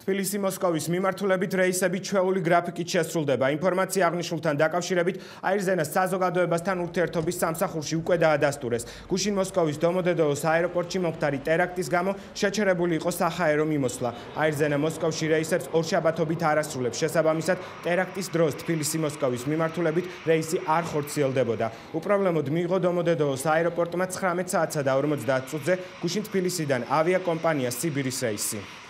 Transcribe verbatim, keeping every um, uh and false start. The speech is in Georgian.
თბილისი-მოსკოვის მიმართულებით რეისები ჩვეული გრაფიკით შესრულდება. ინფორმაცია აღნიშნულთან დაკავშირებით აირზენას საზოგადოებასთან ურთიერთობის სამსახურში უკვე დაადასტურეს. გუშინ-მოსკოვის დომოდედოვოს აეროპორტში მომხდარი ტერაქტის გამო შეჩერებული იყო საჰაერო მიმოსვლა. აირზენა მოსკოვში რეისებს ორშაბათობით არ ასრულებს. შესაბამისად, ტერაქტის დროს თბილისი-მოსკოვის მიმართულებით რეისი არ ხორციელდებოდა. უპრობლემოდ მიიღო დომოდედოვოს აეროპორტმა ცხრამეტ საათსა და ორმოცდაათ წუთზე გუშინ თბილისიდან ავიაკომპანია სიბირის რეისი.